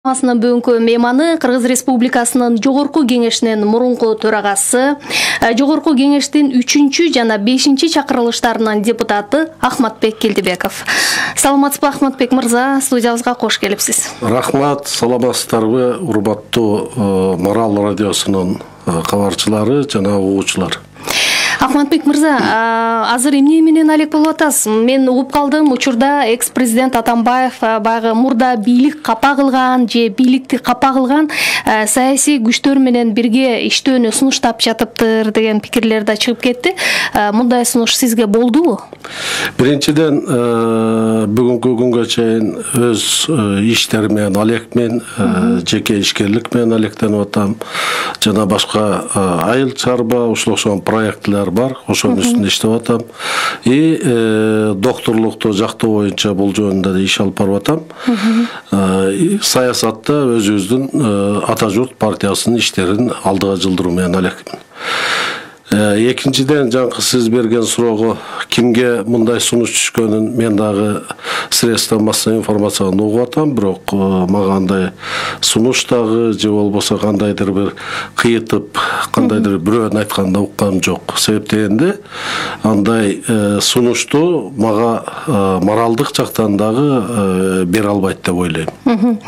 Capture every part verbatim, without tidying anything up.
Бүгүнкү мейманы Кыргыз Республикасынын Жогорку Кеңешинин мурунку төрагасы, Жогорку Кеңештин үчүнчү жана бешинчи чакырылыштарынын депутаты Ахматбек Келдибеков. Саламатсызбы, Ахматбек мырза, студиябызга кош келипсиз. Рахмат, саламатсыздарбы, урматтуу Марал радиосунун кабарчылары жана угуучулар. Ахматбек мырза, азыр эмне менен алек болуп атасыз? Мен угуп калдым, учурда экс-президент Атамбаев баягы мурда бийлик капа кылган же бийликти капа кылган саясий күчтөр менен бирге иштөөнү сунуштап жатыптыр деген пикирлер да чыгып кетти. Мындай сунуш сизге болдубу? Биринчиден, бүгүнкү күнгө чейин өз иштери менен алекмен, жеке ишкерлик менен алектенип атам. Жана башка айыл чарба, ушул окшогон проектлер бар, ошонун үстүндө иштеп атам. И докторлукту жактоо боюнча бул жөнүндө да иш алып барып атам. Саясатта өзүбүздүн Ата журт партиясынын иштерин алдыга жылдыруу менен алекмин. Экинчиден, жаңкы сиз берген суроого кимге мындай сунуш түшкөнүн мен дагы средства массовой информациядан угуп атам, бирок мага андай сунуш дагы же болбосо кандайдыр бир кыйытып, кандайдыр бирөөнүн айтканын укканым жок. Себеп дегенде, андай сунушту мага моралдык жактан дагы бере албайт деп ойлойм.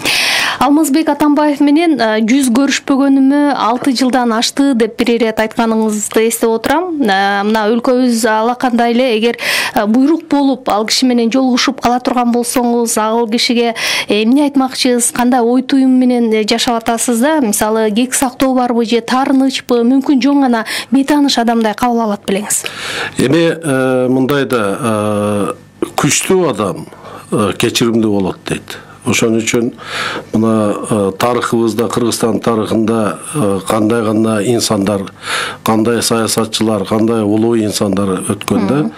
Алмазбек Атамбаев менен жүз көрүшпөгөнүмө алты жылдан ашты деп бир ирет айтканыңызды эстеп отурам. Мына өлкөбүз алакандай эле эгер буйрук болуп, ал киши менен жолугушуп кала турган болсоңуз, ал кишиге эмне айтмакчысыз, кандай ой туюм менен жашап атасыз да? Мисалы, кек сактоо барбы же таарынычпы, мүмкүн жөн гана бейтааныш адамдай кабыл алат белеңиз. Эми мындай да күчтүү адам кечиримдүү болот дейт. Ошон үчүн мына тарыхыбызда, Кыргызстан тарыхында кандай гана инсандар, кандай саясатчылар, кандай улуу инсандар өткөндө,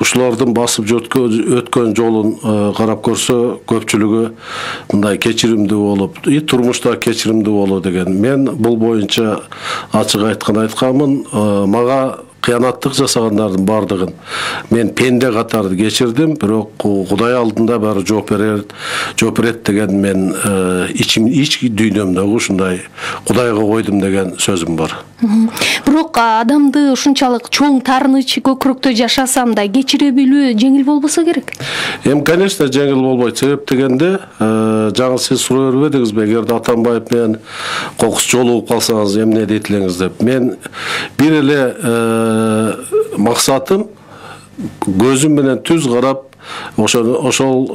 ушулардын басып өткөн жолун карап көрсө, көпчүлүгү мындай кечиримдүү болуп, и турмушта кечиримдүү болуу деген. Мен бул боюнча ачык айткан айтканмын, мага кыянаттык жасагандардын бардыгын мен пенде катары кечирдим, бирок Кудай алдында баары жооп берет, жооп берет деген мен ичим ич дүйнөмдөгү ушундай Кудайга койдум деген сөзүм бар. Бирок адамды ушунчалык чоң таарыныч көкүрөктө жашасам да кечире билүү жеңил болбосо керек. Эми, конечно, жеңил болбойт. Себеп дегенде, жаңы сиз суроо бербедиңизби, эгерде Атамбаев менен кокус жолугуп калсаңыз эмне дейт элеңиз деп. Мен бир эле максатым көзүм менен түз карап, ошол ошол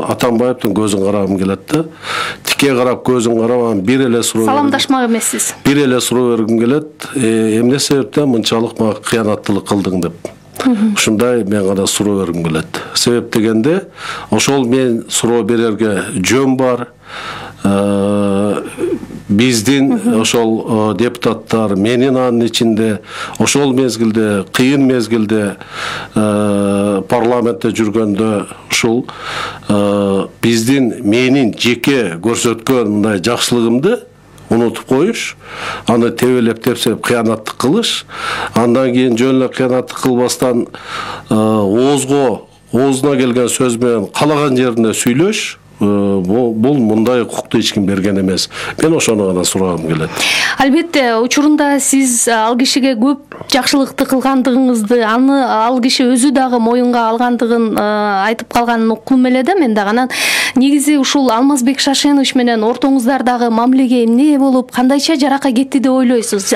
Атамбаевдин көзүн карагым келет да. Тике карап көзүн карап, бир эле суроо саламдашмак эмессиз. Бир эле суроо бергим келет. Эмне себептен мынчалык мага кыянаттылык кылдың деп. Ушундай мен гана суроо бергим келет. Себеп дегенде, ошол мен суроо берерге жөн бар. Биздин ошол депутаттар, менин анын ичинде, ошол мезгилде, кыйын мезгилде парламентте жүргөндө ушул биздин менин жеке көрсөткөн мындай жакшылыгымды унутуп коюш, аны тебелеп тепсеп кыянаттык кылыш, андан кийин жөн эле кыянаттык кылбастан оозго, оозуна келген сөз менен калаган жерине сүйлөш, бул мындай укукту эч ким берген эмес. Мен ошону гана сурагым келет. Албетте, учурунда сиз ал кишиге көп жакшылыкты кылгандыгыңызды, аны ал киши өзү дагы моюнга алгандыгын айтып калганын уккум эле да мен дагы. Анан негизи ушул Алмазбек Шашенович менен ортоңуздардагы мамилеге эмне болуп, кандайча жарака кетти деп ойлойсуз?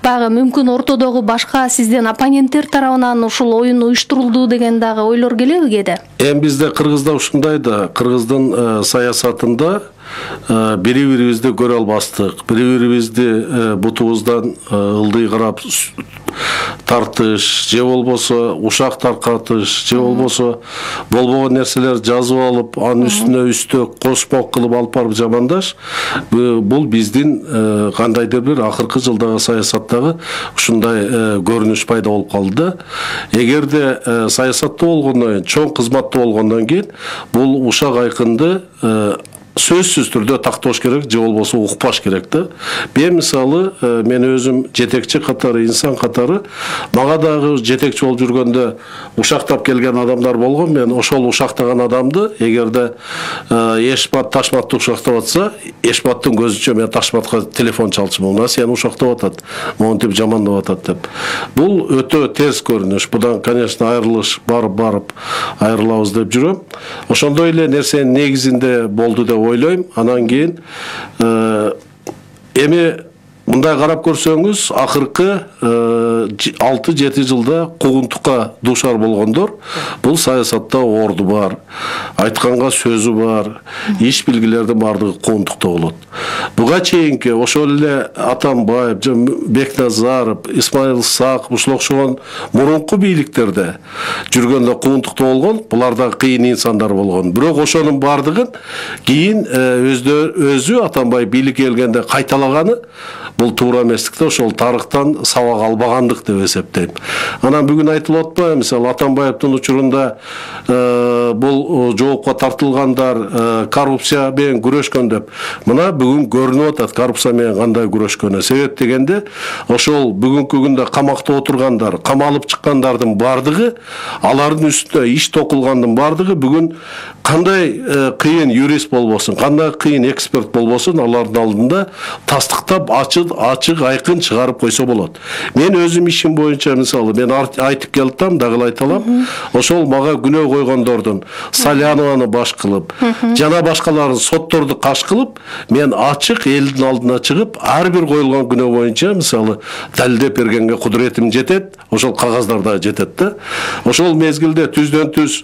Баягы мүмкүн ортодогу башка сизден оппоненттер тарабынан ушул оюн уюштурулду деген дагы ойлор келеби кээде? Эми бизде Кыргызда ушундай да, Кыргыздын саясатында бири-бирибизди көрө албастык, бири-бирибизди бутубуздан ылдый карап тартыш, же болбосо ушак таркатыш, же болбосо болбогон нерселер жазып алып, анын үстүнө үстөк кошмок кылып алып барып жамандаш, бул биздин кандайдыр бир акыркы жылдагы саясаттагы ушундай көрүнүш пайда болуп калды да. Эгерде саясатта болгондон кийин, чоң кызматта болгондон кийин бул ушак айкынды сөзсүз түрдө тактош керек же болбосо укпаш керек да. Мен мисалы мен өзүм жетекчи катары, инсан катары мага дагы жетекчи болуп жүргөндө ушактап келген адамдар болгон. Мен ошол ушактаган адамды эгерде Эшмат Ташматты ушактап атса, Эшматтын көзүнчө мен Ташматка телефон чалчумун. Мына сени ушактап атат, монтип жамандап атат деп. Бул өтө терс көрүнүш. Будан, конечно, айрылыш барып барып айрылабыз деп жүрөм. Ошондой эле нерсенин негизинде болду деп ойлойм. Анан кийин эми мындай карап көрсөңүз, акыркы алты жети жылда куугунтукка дуушар болгондор, бул саясатта орду бар, айтканга сөзү бар, иш билгилердин бардыгы куугунтукта болот. Буга чейинки ошол эле Атамбаев, Бекназаров, Исмаил Сак, ушул окшогон мурунку бийликтерде жүргөндө куугунтукта болгон, булар да кыйын инсандар болгон. Бирок ошонун бардыгын кийин өзү Атамбаев бийликке келгенде кайталаганы бул туура эместикте, ошол тарыхтан сабак албагандык деп эсептейм. Анан бүгүн айтылып атпайбы, мисалы Атамбаевдин учурунда бул жоопко тартылгандар коррупция менен күрөшкөн деп. Мына бүгүн көрүнүп атат коррупция менен кандай күрөшкөнү. Себеп дегенде ошол бүгүнкү күндө камакта отургандар, камалып чыккандардын бардыгы, алардын үстүнө иш токулгандын бардыгы бүгүн кандай кыйын юрист болбосун, кандай кыйын эксперт болбосун, алардын алдында тастыктап ачык ачык айкын чыгарып койсо болот. Мен өзүм ишим боюнча мисалы мен айтып келдим, дагы айталам. Ошол мага күнөө койгондордун Салянованы баш кылып, жана башкаларын сотторду каш кылып, мен ачык элдин алдына чыгып, ар бир коюлган күнөө боюнча мисалы далилдеп бергенге кудуретим жетет, ошол кагаздарда жетет да. Ошол мезгилде түздөн түз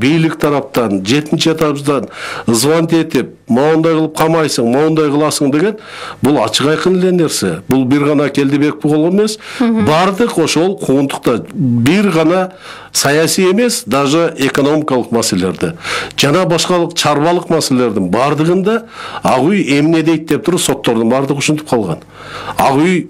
бийлик тараптан, жетинчи этабыздан звонок этип, моундай кылып камайсың, моундай кыласың деген бул ачык айкын эле нерсе. Бул бир гана Келдибек болгон эмес, бардык ошол куугунтукта бир гана саясий эмес, даже экономикалык маселелерде жана башкалык чарбалык маселелердин бардыгында ак үй эмне дейт деп туруп соттордун бардыгы ушинтип калган. Ак үй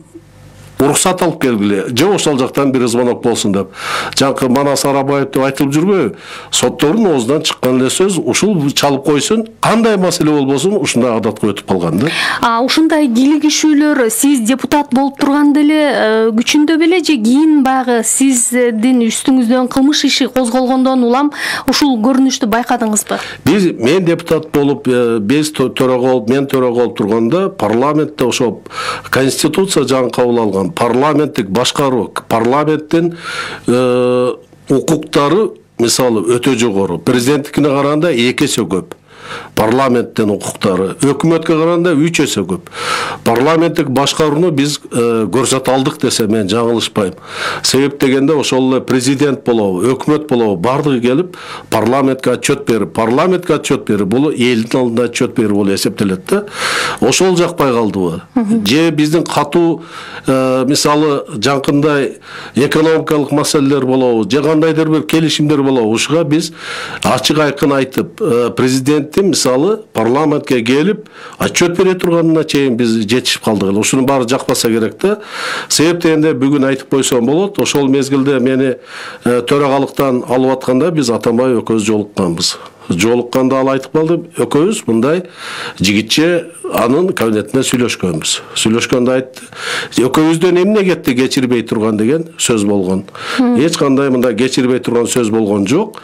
уруксат алып келгиле, же ошол жактан бир звонок болсун деп. Жанкы Манас Арабаев деп айтылып жүрбөйбү? Соттордун оозунан чыккан эле сөз ушул чалып койсун, кандай маселе болбосун ушундай адатка өтүп калган да. А ушундай кийлигишүүлөр сиз депутат болуп турганда эле күчүндө беле же кийин багы сиздин үстүңүздөн кылмыш иши козголгондон улам ушул көрүнүштү байкадыңызбы? Биз мен депутат болуп, биз төрага болуп, мен төрага болуп турганда парламентте ошол конституция жагын кабыл алган парламенттик башкаруу, парламенттин укуктары мисалы өтө жогору. Президенттикине караганда эки эсе көп. Парламенттин укуктары, өкмөткө караганда үч эсе көп. Парламенттик башкарууну биз көрсөтө алдык десе мен жаңылышпайм. Себеп дегенде ошол эле президент болобу, өкмөт болобу бардыгы келип парламентке отчет берип, парламентке отчет берип, бул элдин алдында отчет берип болуп эсептелет да. Ошол жакпай калдыбы? Же биздин катуу мисалы жанкындай экономикалык маселелер болобу, же кандайдыр бир келишимдер болобу, ушуга биз ачык айкын айтып, президент мисалы парламентке келип отчет бере турганына чейин биз жетишип калдык. Ушунун баары жакпаса керек да. Себеп дегенде бүгүн айтып койсом болот. Ошол мезгилде мени төрагалыктан алып атканда биз Атамбаев экөөбүз жолукканбыз. Жолукканда ал айтып калды, экөөбүз мындай жигитче анын кабинетинде сүйлөшкөнбүз. Сүйлөшкөндө айтты, экөөбүздөн эмне кетти кечирбей турган деген сөз болгон. Эч кандай мындай кечирбей турган сөз болгон жок.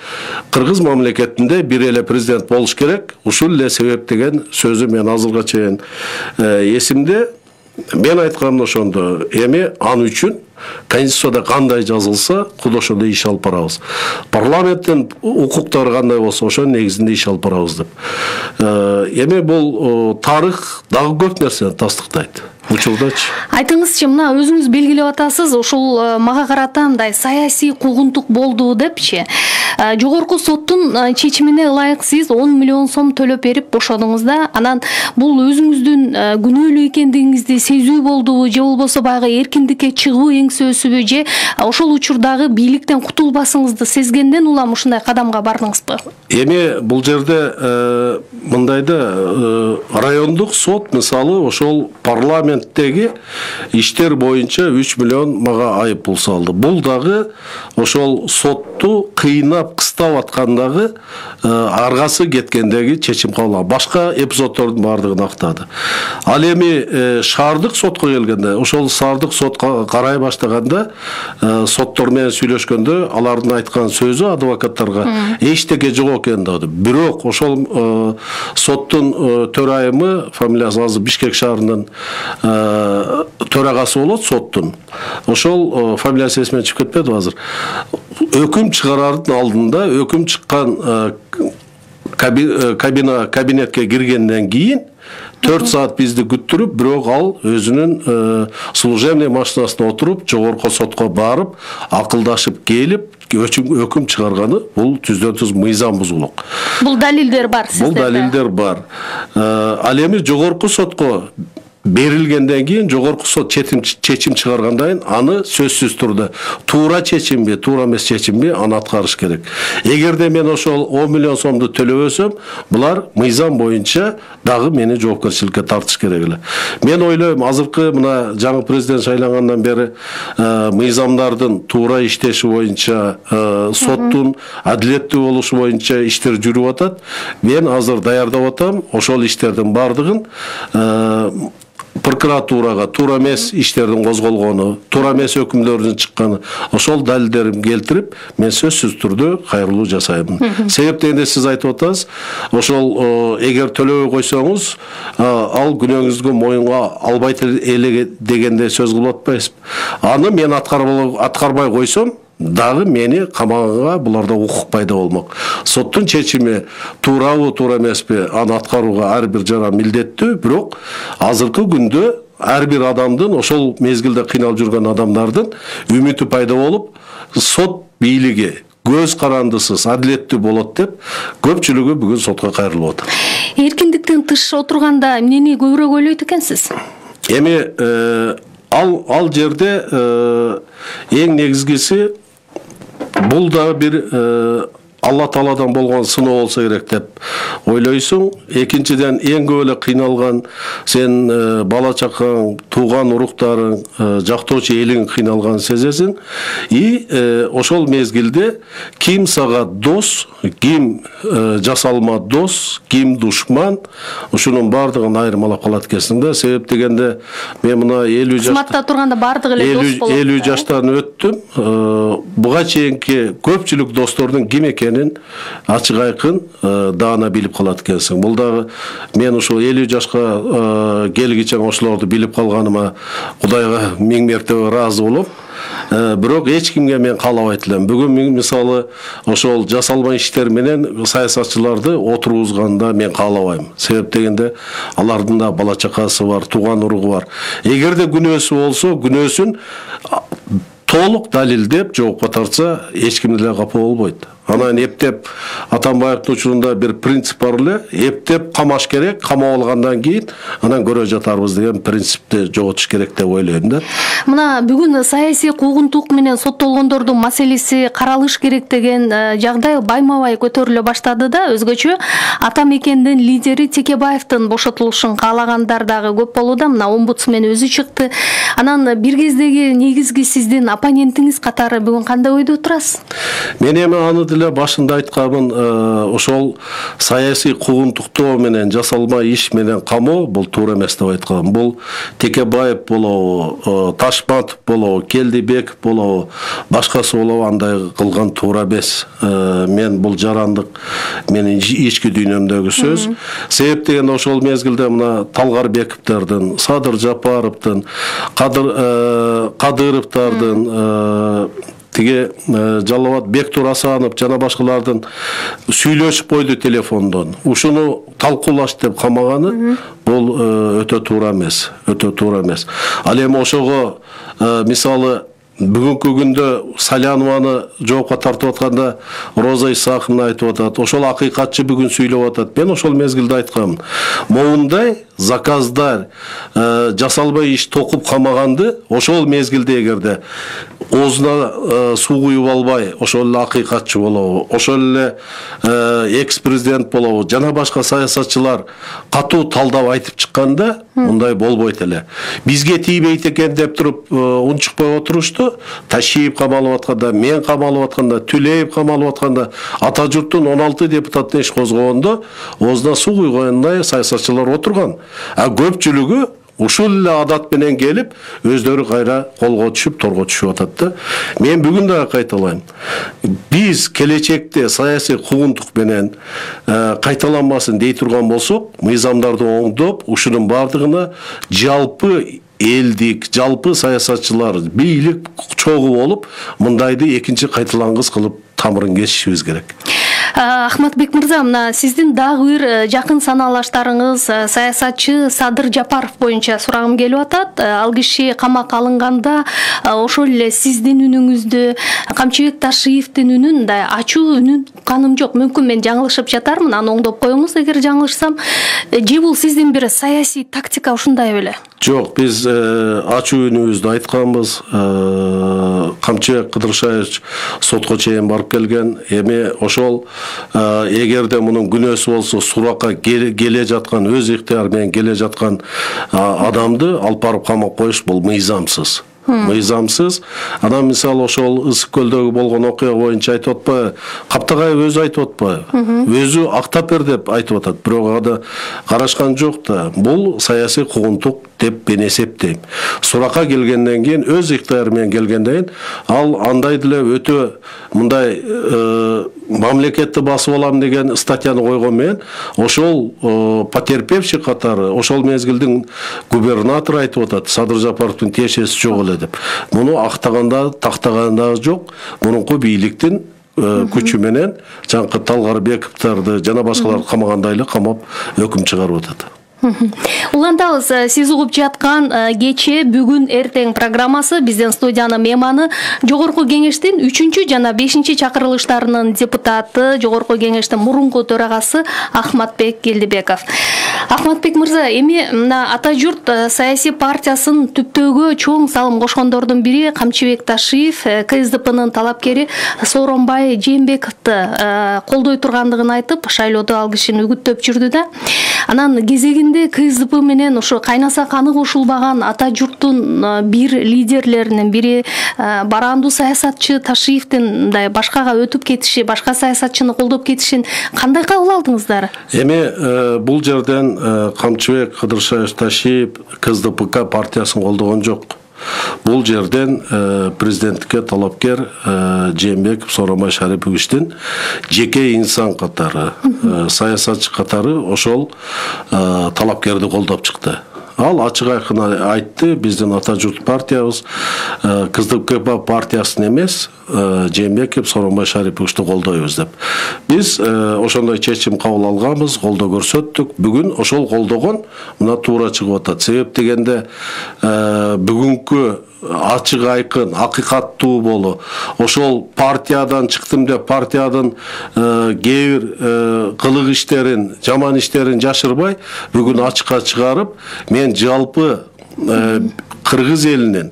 Кыргыз мамлекетинде бир эле президент болуш керек. Ушул эле себеп деген сөзү мен азырга чейин эсимде. Мен айтканым ошондо, эми ал үчүн Конституцияда кандай жазылса, куд ошондой иш алып барабыз. Парламенттин укуктары кандай болсо, ошонун негизинде иш алып барабыз деп. Эми бул тарых дагы көп нерсени тастыктайт. Учурдачы. Айтыңызчы, мына өзүңүз белгилеп атасыз, ошол мага карата мындай саясий куугунтук болду депчи. Жогорку соттун чечимине ылайык сиз он миллион сом төлөп берип бошодуңуз да. Анан бул өзүңүздүн күнөөлүү экендигиңизди сезүү болдубу, же болбосо баягы эркиндикке чыгуу эңсөөсүбү, же ошол учурдагы бийликтен кутулбасыңызды сезгенден улам ушундай кадамга бардыңызбы? Эми бул жерде мындайда райондук сот мисалы ошол парламенттеги иштер боюнча үч миллион мага айып пул салды. Бул дагы ошол сотту кыйнап каттап кыстап аткандагы аргасы кеткендеги чечим кабыл алган. Башка эпизоддордун баардыгын актады. Ал эми шаардык сотко келгенде, ошол шаардык сотко карай баштаганда соттор менен сүйлөшкөндө алардын айткан сөзү адвокаттарга эчтеке жок экен деди. Бирок ошол соттун төрайымы, фамилиясы азыр Бишкек шаарынын төрагасы болот соттун. Ошол фамилиясы эсимен чыгып кетпеди азыр. Өкүм чыгарардын алдында өкүм чыккан кабина кабинетке киргенден кийин төрт саат бизди күттүрүп, бирок ал өзүнүн служебный машинасына отуруп, жогорку сотко барып, акылдашып келип, өкүм чыгарганы бул түздөн түз мыйзам бузулук. Бул далилдер бар сиздерде? Бул далилдер бар. Ал эми жогорку сотко берилгенден кийин жогорку сот чечим чыгаргандан кийин аны сөзсүз турда туура чечимби, туура эмес чечимби аны аткарыш керек. Эгерде мен ошол он миллион сомду төлөбөсөм, булар мыйзам боюнча дагы мени жоопкерчиликке тартыш керек эле. Мен ойлойм, азыркы мына жаңы президент шайлангандан бери мыйзамдардын туура иштеши боюнча, соттун адилеттүү болушу боюнча иштер жүрүп атат. Мен азыр даярдап атам, ошол иштердин баардыгын прокуратурага туура эмес иштердин козголгону, туура эмес өкүмдөрдүн чыкканы, ошол далилдерин келтирип, мен сөзсүз түрдө кайрылуу жасайм. Себеп дегенде сиз айтып атасыз, ошол эгер төлөбөй койсоңуз, ал күнөөңүздү моюнга албайт эле дегенде сөз кылып атпайсызбы? Аны мен аткарбай койсом, дагы мени камаганга буларда укук пайда болмок. Соттун чечими туурабы, туура эмеспи, аны аткарууга ар бир жара милдеттүү, бирок азыркы күндө ар бир адамдын, ошол мезгилде кыйналып жүргөн адамдардын үмүтү пайда болуп, сот бийлиги көз карандысыз, адилеттүү болот деп, көпчүлүгү бүгүн сотко кайрылып атат. Эркиндиктен тыш отурганда эмнени көбүрөөк ойлойт экенсиз? Эми ал ал жерде эң негизгиси бул да бир Алла Тааладан болгон сыноо болсо керек деп ойлойсуң. Экинчиден, эң көп эле кыйналган сен бала чакаң, тууган уруктарың, жактоочу элиң кыйналганын сезесиң. И ошол мезгилде ким сага дос, ким жасалма дос, ким душман, ушунун баардыгын айырмалап калат экенсиң да. Себеп дегенде мен мына элүү жашта кызматта турганда баардыгы эле дос болот. элүү жаштан өттүм. Буга чейинки көпчүлүк достордун ким экенин ачык айкын даана билип калат экенсиң. Бул дагы мен ушул элүү жашка келгиче ошолорду билип калганыма Кудайга миң мертебе ыраазы болом. Бирок эч кимге мен каалабайт элем. Бүгүн мисалы ошол жасалма иштер менен саясатчыларды отургузганда мен каалабайм. Себеп дегенде алардын да бала чакасы бар, тууган уругу бар. Эгерде күнөөсү болсо, күнөөсүн толук далилдеп жоопко тартса, эч ким деле капа болбойт. Анан эптеп Атамбаевдин учурунда бир принцип бар эле, эптеп камаш керек, камап алгандан кийин анан көрө жатарбыз деген принципти жоготуш керек деп ойлойм да. Мына бүгүн саясий куугунтук менен соттолгондордун маселеси каралыш керек деген жагдай байма-бай көтөрүлө баштады да. Өзгөчө ата мекендин лидери Текебаевдин бошотулушун каалагандар дагы көп болууда. Мына омбудсмен өзү чыкты. Анан бир кездеги негизги сиздин оппонентиңиз катары бүгүн кандай ойдо отурасыз? Мен эми аны деле башында айтканмын, ошол саясий куугунтуктоо менен жасалма иш менен камоо бул туура эмес деп айткам. Бул Текебаев болобу, Ташматов болобу, Келдибеков болобу, башкасы болобу андай кылган туура эмес. Мен бул жарандык менин ички дүйнөмдөгү сөз. Себеп деген ошол мезгилде мына Талгарбековдордун, Садыр Жапаровдун, Кадыровдордун, тиги Жалалбат Бектур Асанов жана башкалардын сүйлөшүп койду телефондон. Ушуну талкуулаш деп камаганы бул өтө туура эмес, өтө туура эмес. Ал эми ошого мисалы бүгүнкү күндө Салянованы жоопко тартып атканда Роза Исаховна айтып атат, ошол акыйкатчы бүгүн сүйлөп атат. Мен ошол мезгилде айткам, моундай заказдар жасалбай иш токуп камаганды ошол мезгилде эгерде оозуна суу куюп албай ошол эле акыйкатчы болобу, ошол эле экс президент болобу жана башка саясатчылар катуу талдап айтып чыкканда мындай болбойт эле. Бизге тийбейт экен деп туруп унчукпай отурушту. Ташиев камалып атканда, мен камалып атканда, Түлеев камалып атканда, ата журттун он алты депутатын иш козгогондо оозуна суу куйгандай саясатчылар отурган. А көпчүлүгү ушул эле адат менен келип, өздөрү кайра колго түшүп, торго түшүп атат да. Мен бүгүн дагы кайталайм. Биз келечекте саясий куугунтук менен кайталанбасын дей турган болсок, мыйзамдарды оңдоп, ушунун бардыгына жалпы элдик, жалпы саясатчылар, бийлик чогуу болуп, мындайды экинчи кайталангыс кылып тамырын кесишибиз керек. Ахматбек мырза, мына сиздин дагы бир жакын санаалаштарыңыз саясатчы Садыр Жапаров боюнча сурагым келип атат. Ал киши камакка алынганда ошол эле сиздин үнүңүздү, Камчыбек Ташиевдин үнүн да ачуу үнүн укканым жок. Мүмкүн мен жаңылышып жатармын, аны оңдоп коюңуз эгер жаңылышсам. Же бул сиздин бир саясий тактика ушундай беле? Жок, биз ачуу үнүбүздү айтканбыз. Камчыбек Кыдыршаевич сотко чейин барып келген. Эми ошол эгерде мунун күнөөсү болсо, суракка келе жаткан, өз ыктыяры менен келе жаткан адамды алып барып камап коюш бул мыйзамсыз. Мыйзамсыз. Анан мисалы ошол Ысык көлдөгү болгон окуя боюнча айтып атпайбы? Каптагаев өзү айтып атпайбы? Өзү актап бер деп айтып атат. Бирок ада карашкан жок да. Бул саясий куугунтук деп мен эсептейм. Суракка келгенден кийин, өз ыктыяры менен келгенден кийин, ал андай деле өтө мындай мамлекетти басып алам деген статьяны койгон менен, ошол потерпевший катары, ошол мезгилдин губернатору айтып атат, Садыр Жапаровдун тиешеси жок эле деп. Муну актаганда, тактаганда жок. Мурунку бийликтин күчү менен жаңкы Талгарбековдорду жана башкаларды камагандай эле камап өкүм чыгарып атат. Улантабыз, сиз угуп жаткан кече бүгүн эртең программасы биздин студиянын мейманы Жогорку кеңештин үчүнчү жана бешинчи чакырылыштарынын депутаты, Жогорку кеңештин мурунку төрагасы Ахматбек Келдибеков. Ахматбек мырза, эми мына Ата журт саясий партиясын түптөөгө чоң салым кошкондордун бири Камчыбек Ташиев, КСДПнын талапкери Сооронбай Жээнбековду колдой тургандыгын айтып, шайлоодо ал кишини үгүттөп жүрдү да. Анан кезегинде КСДП менен ушу кайнаса каны кошулбаган Ата журттун бир лидерлеринин бири барандуу саясатчы Ташиевдин мындай башкага өтүп кетиши, башка саясатчыны колдоп кетишин кандай кабыл алдыңыздар? Эми бул жерден Камчыбек Кыдыршаев Ташиев КСДП партиясын колдогон жок. Бул жерден президенттикке талапкер Жээнбеков Сооронбай Шариповичтин жеке инсан катары, саясатчы катары ошол талапкерди колдоп чыкты. Ал ачык айкын айтты, биздин Ата журт партиябыз КСДП партиясын эмес, Жээнбеков Сооронбай Шариповичти колдойбуз деп. Биз ошондой чечим кабыл алганбыз, колдоо көрсөттүк. Бүгүн ошол колдогон мына туура чыгып атат. Себеп дегенде бүгүнкү ачык айкын, акыйкаттуу болу, ошол партиядан чыктым деп партиянын кээ бир кылык иштерин, жаман иштерин жашырбай, бүгүн ачыкка чыгарып, мен жалпы кыргыз элинин,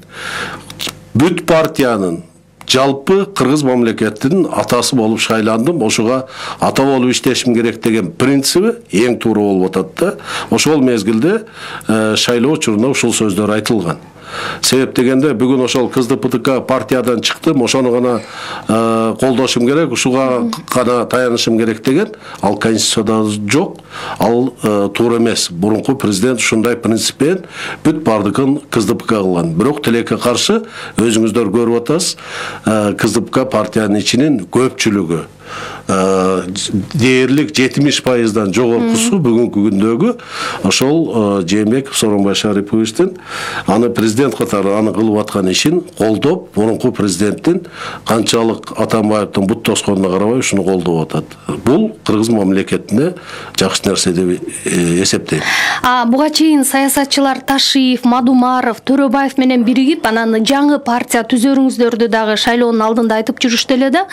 бүт партиянын, жалпы кыргыз мамлекетинин атасы болуп шайландым, ошуга ата болуп иштешим керек деген принциби эң туура болуп атат да. Ошол мезгилде шайлоо учурунда ушул сөздөр айтылган. Себеп дегенде бүгүн ошол КСДП партиядан чыктым, ошону гана колдошум керек, ушуга гана таянышым керек деген, ал конституцияда жок, ал туура эмес. Мурунку президент ушундай принциппен бүт бардыгын КСДПга кылган. Бирок тилекке каршы өзүңүздөр көрүп атасыз, КСДП партиянын ичинин көпчүлүгү дээрлик жетимиш пайыздан жогоркусу бүгүнкү күндөгү ошол Жээнбеков Сооронбай Шариповичтин аны президент катары аны кылып аткан ишин колдоп, мурунку президенттин канчалык Атамбаевдин бут тосконуна карабай ушуну колдоп атат. Бул кыргыз мамлекетине жакшы нерсе деп эсептейм. А буга чейин саясатчылар Ташиев, Мадумаров, Төрөбаев менен биригип анан жаңы партия түзөрүңүздөрдү дагы шайлоонун алдында айтып жүрүштү эле да.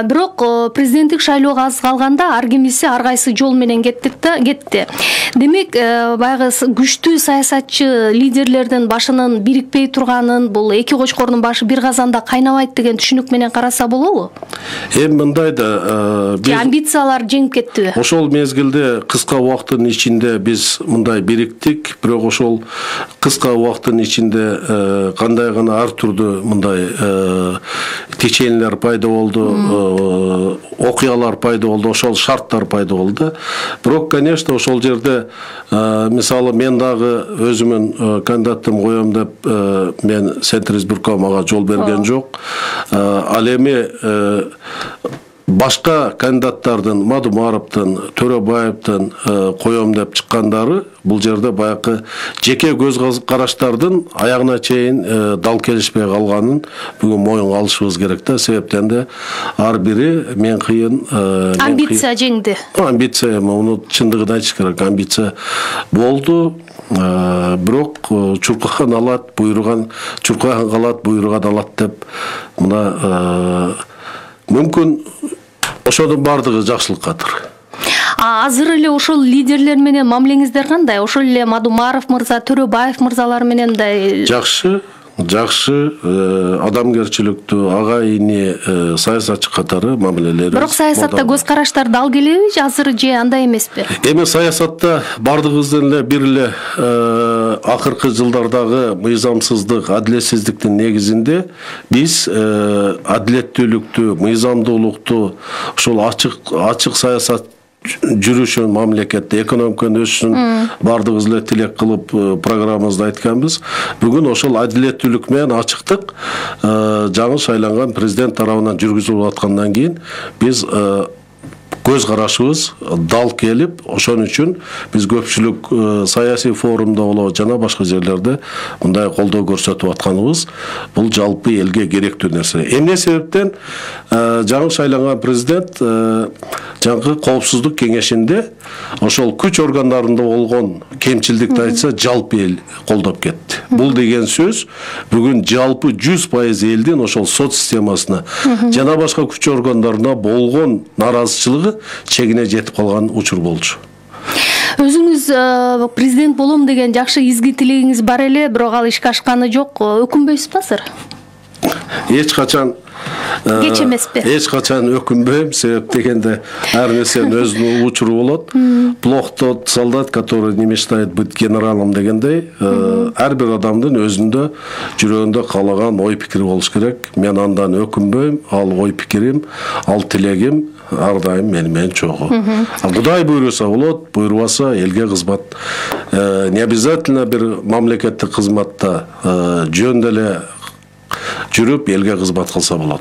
Бирок президенттик шайлоого аз калганда ар кимиси ар кайсы жол менен кетти да кетти. Демек, баягы күчтүү саясатчы лидерлердин башынын бирикпей турганын, бул эки кочкордун башы бир казанда кайнабайт деген түшүнүк менен караса болобу? Эми мындай да, биз амбициялар жеңип кеттиби? Ошол мезгилде кыска убакыттын ичинде биз мындай бириктик, бирок ошол кыска убакыттын ичинде кандай гана ар түрдүү мындай теченелер пайда болду, окуялар пайда болду, ошол шарттар пайда болду. Бирок, конечно, ошол жерде мисалы мен дагы өзүмүн кандидаттым коем деп мен Центр избирком ага жол берген жок. Ал эми башка кандидаттардын, Мадумаровдун, Төрөбаевдин коем деп чыккандары бул жерде баягы жеке көз караштардын аягына чейин дал келишпей калганын бүгүн моюнга алышыбыз керек да. Себептен де ар бири мен кыйын амбиция жеңди. Амбиция, муну чындыгын айтыш керек. Амбиция болду. Бирок чуркаган алат, буйруган, чуркаган калат, буйруган алат деп мына мүмкүн ошодун бардыгы жакшылыккадыр. Азыр эле ошол лидерлер менен мамилеңиздер кандай? Ошол эле Мадумаров мырза, Төрөбаев мырзалар менен да жакшы, жакшы, адамгерчиликтүү, агайыны саясатчы катары мамилелери. Бирок саясатта көз караштар дал келеби азыр же андай эмеспи? Эми саясатта бардыгыбыздын эле бир эле акыркы жылдардагы мыйзамсыздык, адилетсиздиктин негизинде биз адилеттүүлүктү, мыйзамдуулукту, ошол ачык ачык саясат жүрүшүн, мамлекетте экономиканын өсүшүн бардыгыбыз эле тилек кылып программабызда айтканбыз. Бүгүн ошол адилеттүүлүк менен ачыктык жаңы шайланган президент тарабынан жүргүзүлүп аткандан кийин биз көз карашыбыз дал келип, ошон үчүн биз көпчүлүк саясий форумда болобу жана башка жерлерде мындай колдоо көрсөтүп атканыбыз бул жалпы элге керектүү нерсе. Эмне себептен жаңы шайланган президент жаңы коопсуздук кеңешинде ошол күч органдарында болгон кемчилдикти айтса жалпы эл колдоп кетти. Бул деген сөз бүгүн жалпы жүз пайыз элдин ошол сот системасына жана башка күч органдарына болгон наразычылыгы чегине жетип калган учур болчу. Өзүңүз президент болом деген жакшы изги тилегиңиз бар эле, бирок ал ишке ашканы жок. Өкүнбөйсүзбү азыр? Эч качан кеч эмеспи? Эч качан өкүнбөйм, себеп дегенде ар нерсенин өзүнүн учуру болот. Плох тот солдат, который не мечтает быть генералом дегендей, ар бир адамдын өзүндө жүрөгүндө каалаган ой пикири болуш керек. Мен андан өкүнбөйм, ал ой пикирим, ал тилегим ар дайым мени менен чогуу. Кудай буйруса болот, буйрубаса элге кызмат. Не обязательно бир мамлекеттик кызматта жөн деле жүрүп элге кызмат кылса болот.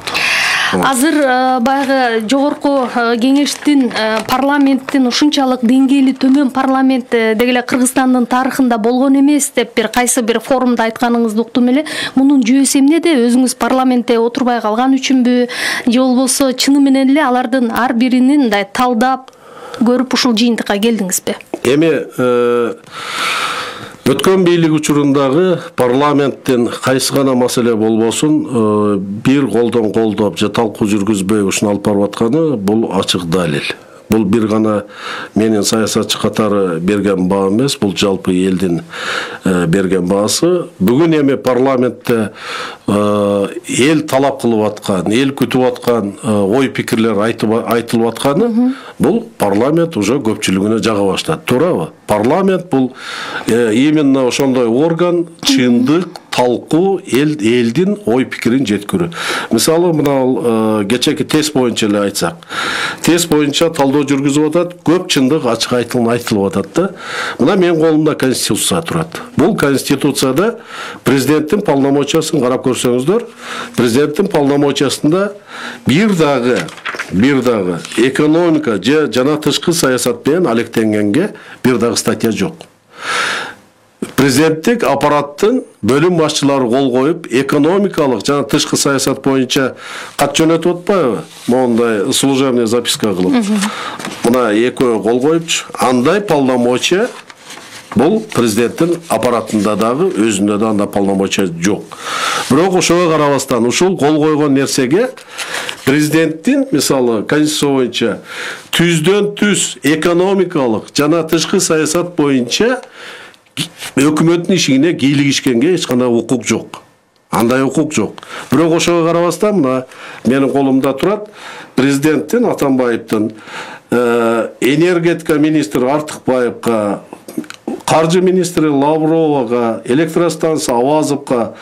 Азыр баягы жогорку кеңештин, парламенттин ушунчалык деңгээли төмөн парламент деги эле Кыргызстандын тарыхында болгон эмес деп бир кайсы бир форумда айтканыңызды уктум эле. Мунун жүйөсү эмнеде? Өзүңүз парламентте отурбай калган үчүнбү, же болбосо чыны менен эле алардын ар биринин мындай талдап көрүп ушул жыйынтыкка келдиңизби? Эми өткөн бийлик учурундагы парламенттин кайсы гана маселе болбосун бир колдон колдоп же талкуу жүргүзбөй ушуну алып барып атканы бул ачык далил. Бул бир гана менин саясатчы катары берген баа эмес, бул жалпы элдин берген баасы. Бүгүн эми парламентте эл талап кылып аткан, эл күтүп аткан ой пикирлер айтылып атканы бул парламент уже көпчүлүгүнө жага баштады. Туурабы? Парламент бул именно ошондой орган, чындык, талкуу, эл элдин ой пикирин жеткирүү. Мисалы мына кечеки тест боюнча эле айтсак, тест боюнча талдоо жүргүзүп атат, көп чындык ачык айтылып айтылып атат да. Мына менин колумда конституция турат. Бул конституцияда президенттин полномочиясын карап көрсөңүздөр, президенттин полномочиясында бир дагы бир дагы экономика же жана тышкы саясат менен алектенгенге бир дагы статья жок. Президенттик аппараттын бөлүм башчылары кол коюп, экономикалык жана тышкы саясат боюнча кат жөнөтүп атпайбы? Мондай служебный записка кылып. Мына экөө кол коюпчу. Андай полномочия Бул президенттин аппаратында дагы өзүндө да анда полномочия жок. Бирок ошого карабастан ушул кол койгон нерсеге президенттин мисалы конституция боюнча түздөн түз экономикалык жана тышкы саясат боюнча өкмөттүн ишине кийлигишкенге эч кандай укук жок. Андай укук жок. Бирок ошого карабастан мына менин колумда турат президенттин Атамбаевдин энергетика министри Артыкбаевга, каржы министри Лавровага, электростанция Авазовга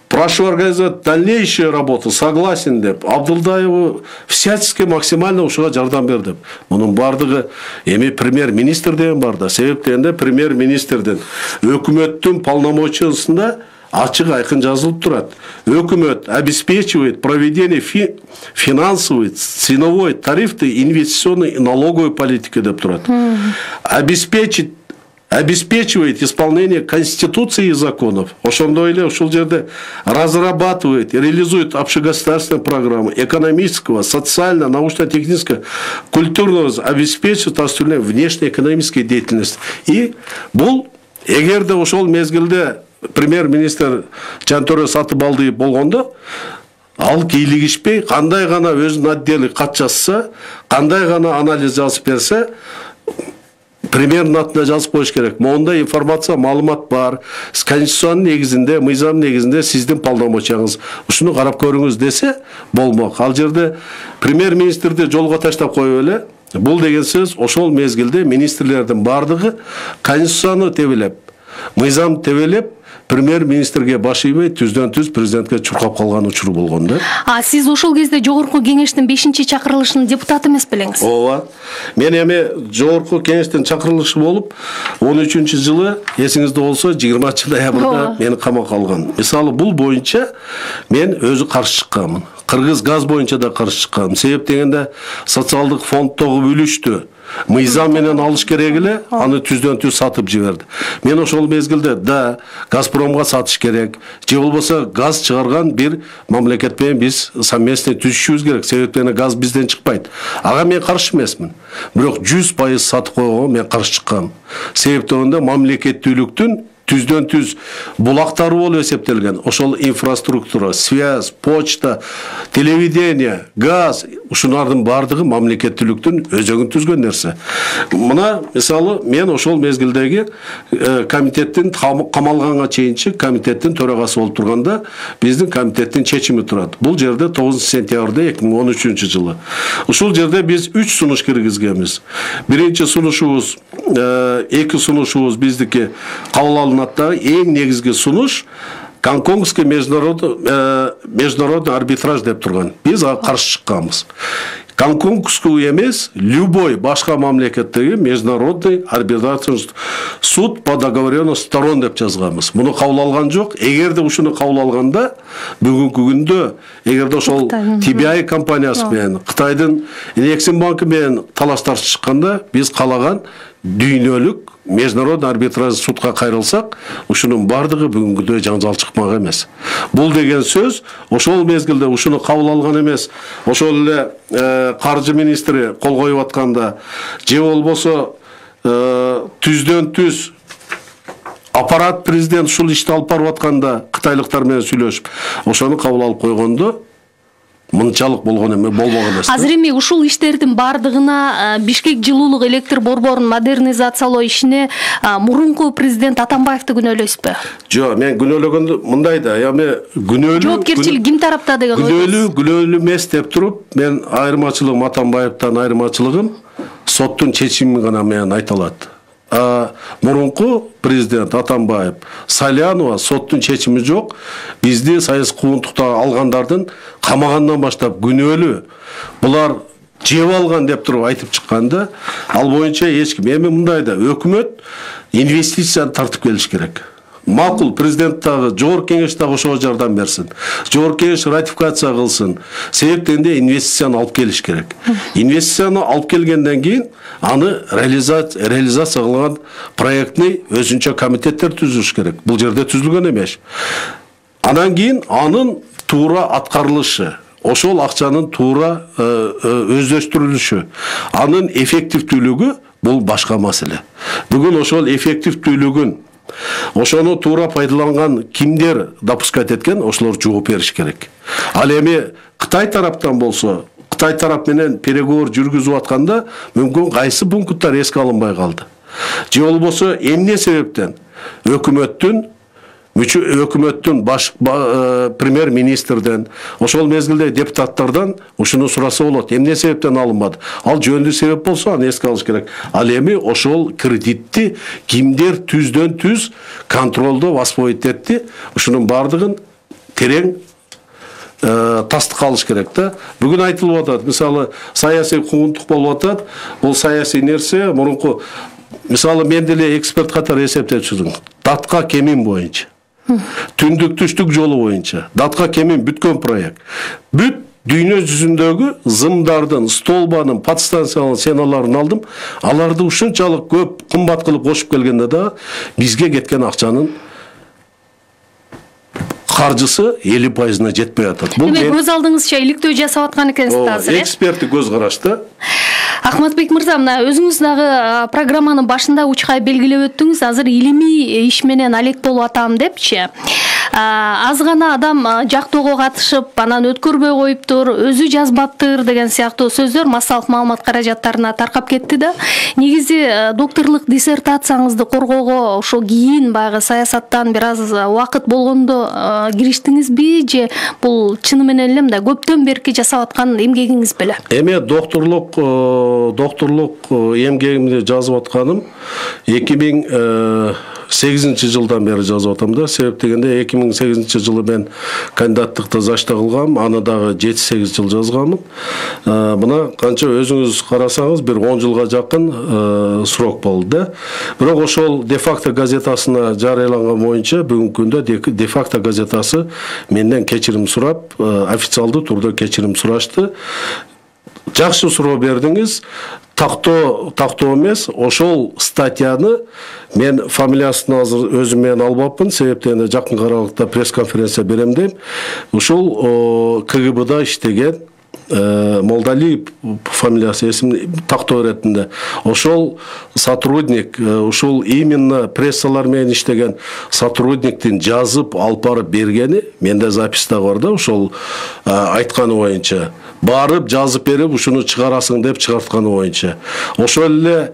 прошу организовать дальнейшую работу, согласен деп, Абдулдаеву всячески максимально ушуга жардам бер деп. Мунун бардыгы эми премьер-министр деген бар да, себеп дегенде премьер-министрдин өкмөттүн полномочиясында ачык айкын жазылып турат. Өкмөт обеспечивает проведение фи финансовой, ценовой, тарифной, инвестиционной и налоговой политики деп турат. Обеспечить обеспечивает исполнение Конституции и законов. Ошондой эле ушул жерде разрабатывает и реализует общегосударственные программы экономического, социально, научно-технического, культурного, обеспечивает осуществление внешнеэкономической деятельности. И бул эгерде ошол мезгилде премьер-министр Жантөре Сатыбалдиев болгондо ал кийлигишпей кандай гана өзүнүн отдели кат жазса, кандай гана анализ жазып берсе, премьердин атына жазып коюш керек. Монда информация, маалымат бар. Конституциянын негизинде, мыйзам негизинде сиздин полномочияңыз. Ушуну карап көрүңүз десе болмок. Ал жерде премьер-министрди жолго таштап коюп эле, бул деген сөз ошол мезгилде министрлердин бардыгы конституцияны тебелеп, мыйзам тебелеп, премьер-министрге баш ийбей түздөн түз президентке чуркап калган учуру болгон да. А сиз ошол кезде жогорку кеңештин бешинчи чакырылышынын депутаты эмес белеңиз? Ооба. Мен эми жогорку кеңештин чакырылышы болуп он үчүнчү жылы, эсиңизде болсо, жыйырманчы ноябрда мени камакка алган. Мисалы бул боюнча мен өзү каршы чыкканмын. Кыргыз газ боюнча да каршы чыкканмын. Себеп дегенде социалдык фонддогу үлүштү мыйзам менен алыш керек эле, аны түздөн түз сатып жиберди. Мен ошол мезгилде да Газпромго сатыш керек, же болбосо газ чыгарган бир мамлекет менен биз совместно түзүшүбүз керек. Себептен газ бизден чыкпайт. Ага мен каршы эмесмин. Бирок жүз пайыз сатып койгонго мен каршы чыккам. Себептен мамлекеттүүлүктүн түздөн түз булактары болуп эсептелген. Ошол инфраструктура, связь, почта, телевидение, газ, ушулардын бардыгы мамлекеттүүлүктүн өзөгүн түзгөн нерсе. Мына мисалы мен ошол мезгилдеги комитеттин камалганга чейинчи комитеттин төрагасы болуп турганда биздин комитеттин чечими турат. Бул жерде тогузунчу сентябрда эки миң он үчүнчү жылы. Ушул жерде биз үч сунуш киргизгенбиз. Биринчи сунушубуз, эки сунушубуз биздики кабыл алынаттагы эң негизги сунуш Гонконгский международный, э, международный арбитраж деп турган. Биз ага каршы чыкканбыз. Гонконгский эмес, любой башка мамлекеттеги международный арбитражный суд по договоренности сторон деп жазганбыз. Муну кабыл алган жок. Эгерде ушуну кабыл алганда бүгүнкү күндө эгерде ошол Ти Би Ай компаниясы менен Кытайдын Эксим банкы менен талаштар чыкканда биз калаган дүйнөлүк международный арбитраж судка кайрылсак, ушунун бардыгы бүгүнкүдөй жаңжал чыкмак эмес. Бул деген сөз ошол мезгилде ушуну кабыл алган эмес. Ошол эле э, каржы министри кол коюп атканда, же болбосо э, түздөн түз аппарат президент ушул ишти алып барып атканда кытайлыктар менен сүйлөшүп, ошону кабыл алып койгондо мынчалык болгон эме болбогон эмес. Азыр эми ушул иштердин бардыгына Бишкек жылуулук электр борборун модернизациялоо ишине мурунку президент Атамбаевди күнөөлөйсүзбү? Жок, мен күнөөлөгөндө мындай да, эми күнөөлүү жоопкерчилик ким тарапта деген ой. Күнөөлүү, күнөөлүү эмес деп туруп, мен айырмачылыгым Атамбаевден айырмачылыгым соттун чечими гана менен айта алат. Мурунку президент Атамбаев, Салянова соттун чечими жок. Бизди саясий куугунтукта алгандардын камагандан баштап күнөөлүү. Булар жеп алган деп туруп айтып чыкканда, ал боюнча эч ким. Эми мындай да, өкмөт инвестицияны тартып келиш керек. Макул президент дагы, жогорку кеңеш дагы ошого жардам берсин. Жогорку кеңеш ратификация кылсын. Себептенде инвестицияны алып келиш керек. Инвестицияны алып келгенден кийин аны реализация реализация кылган проектный өзүнчө комитеттер түзүш керек. Бул жерде түзүлгөн эмес. Анан кийин анын туура аткарылышы, ошол акчанын туура өздөштүрүлүшү, анын эффективдүүлүгү бул башка маселе. Бүгүн ошол эффективдүүлүгүн, ошону туура пайдаланган кимдер допускать эткен, ошолор жооп бериш керек. Ал эми Кытай тараптан болсо, Кытай тарап менен переговор жүргүзүп атканда мүмкүн кайсы пункттар эске алынбай калды. Же болбосо эмне себептен өкмөттүн өкмөттүн баш премьер-министрден, ошол мезгилде депутаттардан ушуну сураса болот. Эмне себептен алынбады? Ал жөндүү себеп болсо, аны эске алыш керек. Ал эми ошол кредитти кимдер түздөн түз контролдо воспоить этти? Ушунун бардыгын терең тастык алыш керек да. Бүгүн айтылып атат, мисалы, саясий куугунтук болуп атат. Бул саясий нерсе мурунку, мисалы, мен деле эксперт катары эсептеп чыгдым. Датка кемин боюнча, түндүк түштүк жолу боюнча, датка кемин бүткөн проект. Бүт дүйнө жүзүндөгү зымдардын, столбанын, подстанциянын сеналарын алдым. Аларды ушунчалык көп кымбат кылып кошуп келгенде да бизге кеткен акчанын каржысы элүү пайызына жетпей атат. Бул көз алдыңызча иликтөө жасап аткан экенсиз азыр. Эксперттик көз карашты. Ахматбек мырза, мына өзүңүз дагы программанын башында учкай белгилеп өттүңүз, азыр илимий иш менен алек болуп атам депчи. Аз гана адам жактоого катышып, анан өткөрбөй коюптур, өзү жазбаптыр деген сыяктуу сөздөр массалык маалымат каражаттарына таркап кетти да. Негизи докторлук диссертацияңызды коргоого ошо кийин баягы саясаттан бир аз убакыт болгондо кириштиңизби, же бул чыны менен эле мындай көптөн берки жасап аткан эмгегиңиз беле? Эми докторлук докторлук эмгегимди жазып атканым эки миң сегизинчи жылдан бери жазып атам да. Себеп дегенде эки миң сегизинчи жылы мен кандидаттыкты зачта кылгам, аны дагы жети сегиз жыл жазганмын. Мына канча өзүңүз карасаңыз бир он жылга жакын срок болду да. Бирок ошол де-факто газетасына жарыяланган боюнча бүгүнкү күндө де-факто газетасы менден кечирим сурап, официалдуу турда кечирим сурашты. Жакшы суроо бердиңиз. Тактоо, тактоо эмес, ошол статьяны мен фамилиясын азыр өзүм менен албапмын, себептен жакын аралыкта пресс-конференция берем дейм. Ошол КГБда иштеген Молдалиев фамилиясы эсим тактоо иретинде. Ошол сотрудник, ошол именно прессалар менен иштеген сотрудниктин жазып алып барып бергени, менде записта бар да, ошол айтканы боюнча. Барып жазып берип ушуну чыгарасың деп чыгартканы боюнча. Ошол эле